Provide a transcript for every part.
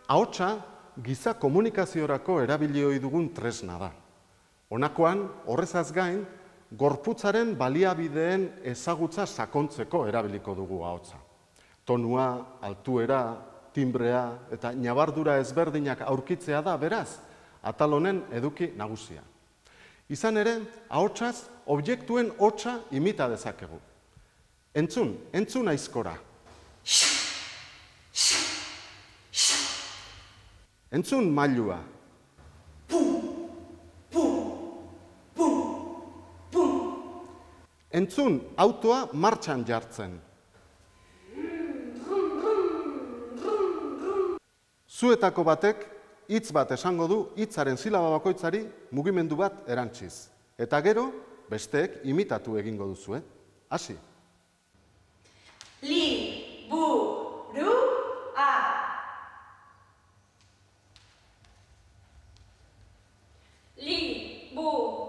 Ahotsa giza komunikaziorako erabili ohi dugun tresna da. Honakoan, horrezaz gain, gorputzaren baliabideen ezagutza sakontzeko erabiliko dugu ahotsa. Tonua, altuera, timbrea eta ñabardura ezberdinak aurkitzea da, beraz, atal honen eduki nagusia. Izan ere, ahotsaz, objektuen hotsa imita dezakegu. Entzun aizkora. Entzun mailua. Entzun autoa martxan jartzen. Zuetako batek hitz bat esango du hitzaren silaba bakoitzari mugimendu bat erantsiz. Eta gero, besteek imitatu egingo duzue. Hasi. Liburua. Liburua.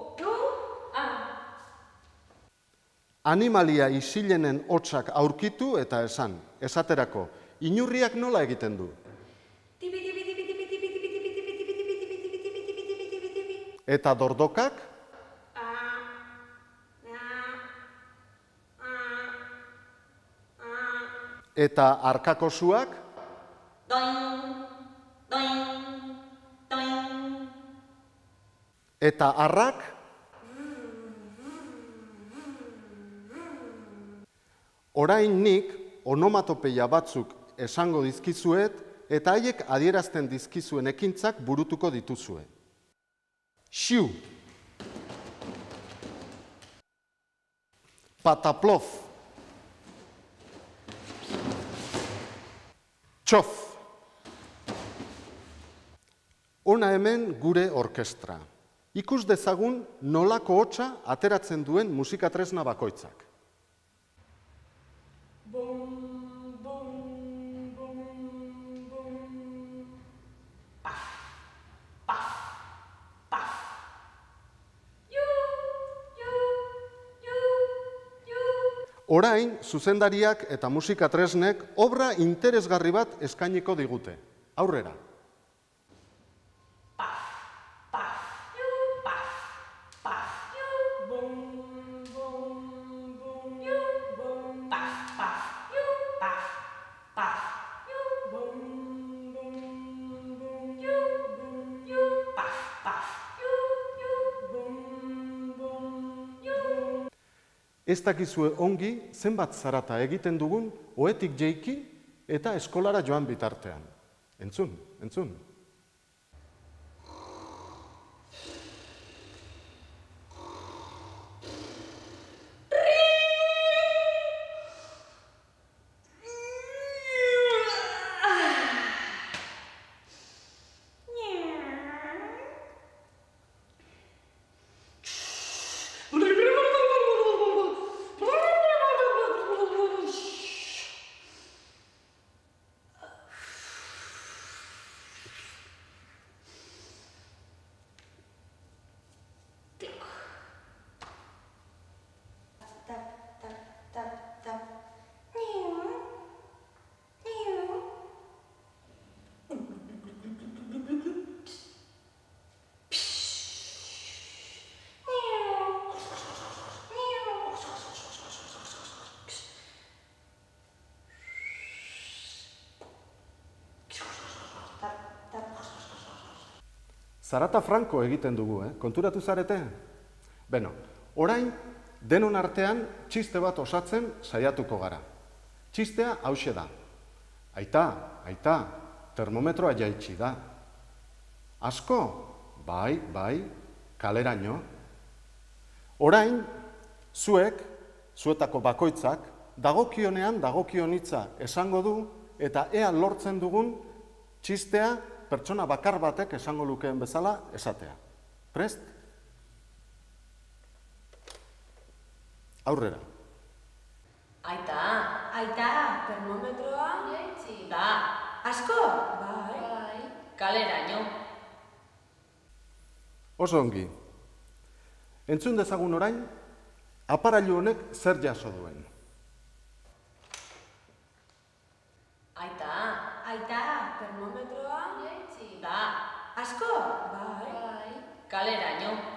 Animalia isilenen hotsak aurkitu eta esan. Esaterako, inurriak nola egiten du? Eta dordokak? Eta arkakosuak? Eta arrak? Orain nik onomatopeia batzuk esango dizkizuet eta haiek adierazten dizkizuen ekintzak burutuko dituzue. Xiu. Pataplof. Txof. Hona hemen gure orkestra. Ikus dezagun nolako hotsa ateratzen duen musikatresna bakoitzak. Orain, zuzendariak eta musikatresnek obra interesgarri bat eskainiko digute. Aurrera. Ez dakizue ongi zenbat zarata egiten dugun ohetik jeiki eta eskolara joan bitartean. Entzun. Zarata franko egiten dugu, konturatu zarete? Beno, orain, denon artean txiste bat osatzen saiatuko gara. Txistea hauxe da. Aita, termometroa jaitsi da. Asko? Bai, kaleraino. Orain, zuetako bakoitzak, dagokionean dagokion hitza esango du eta ea lortzen dugun txistea pertsona bakar batek esango lukeen bezala esatea. Prest? Aurrera. Aita, termometroa jaitsi da. Asko? Bai. Kaleraino. Oso ongi. Entzun dezagun orain, aparailu honek zer jaso duen. Aita, termometroa Asko? Bai. Kaleraino.